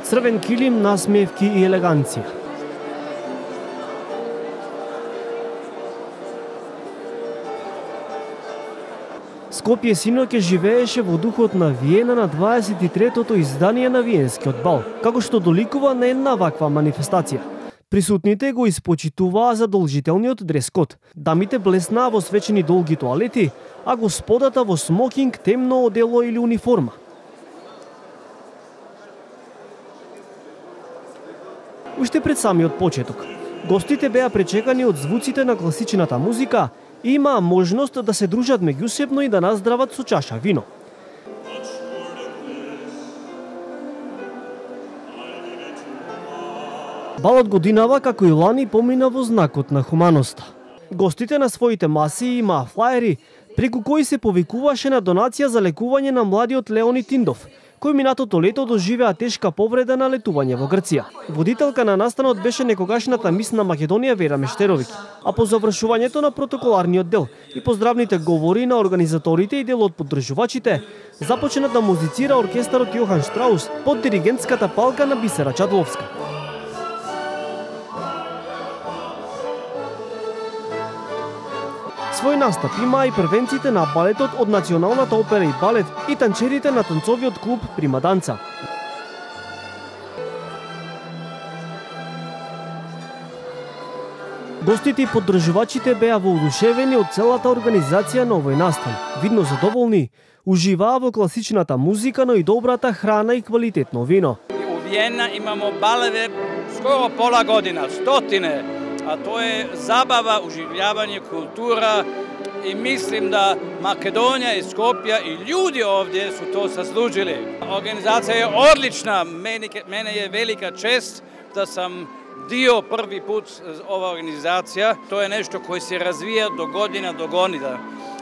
Црвен килим, насмевки и елеганција. Скопје синоќе живееше во духот на Виена на 23-тото издание на Виенскиот бал, како што доликува на една ваква манифестација. Присутните го испочитуваа задолжителниот дрес-код. Дамите блеснаа во свечени долги тоалети, а господата во смокинг, темно одело или униформа. Уште пред самиот почеток, гостите беа пречекани од звуците на класичната музика и имаа можност да се дружат меѓусебно и да наздрават со чаша вино. Балот годинава, како и лани, помина во знакот на хуманоста. Гостите на своите маси имаа флаери, преку кои се повикуваше на донација за лекување на младиот Леонид Тиндов, кој минатото лето доживеа тешка повреда на летување во Грција. Водителка на настанот беше некогашната мис на Македонија Вера Мештеровиќ, а по завршувањето на протоколарниот дел и поздравните говори на организаторите и дел од поддржувачите, започна да музицира оркестарот Јохан Штраус под диригентската палка на Бисера Чадловска. Свој настап имаа и првенците на балетот од Националната опера и балет и танчерите на танцовиот клуб Прима Данца. Гостите и поддржувачите беа воодушевени од целата организација на овој настан. Видно задоволни, уживаа во класичната музика, но и добрата храна и квалитетно вино. У Виена имамо балеве скоро пола година, стотине. А тоа е забава, уживљавање, култура и мислим да Македонија и Скопје и луѓе овде су то заслужили. Организација е одлична, мене е велика чест да сам дио први пут ова организација. Тоа е нешто кој се развија до година.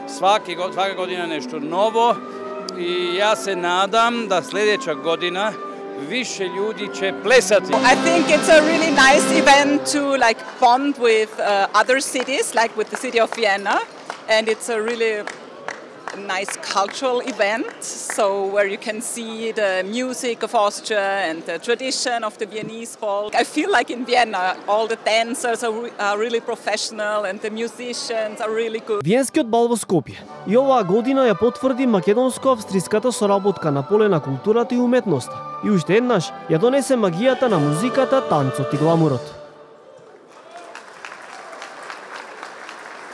Свака година нешто ново и јас се надам да следеќа година više ljudi će plesati. I think it's a really nice event to bond with other cities, like with the city of Vienna, and it's a really nice cultural event, so where you can see the music of Austria and the tradition of the Viennese folk. I feel like in Vienna all the dancers are really professional and the musicians are really good. Виенскиот бал во Скопје и оваа година ја потврди македонско-австриската соработка на поле на културата и уметноста и уште еднаш ја донесе магијата на музиката, танцот и гламурот.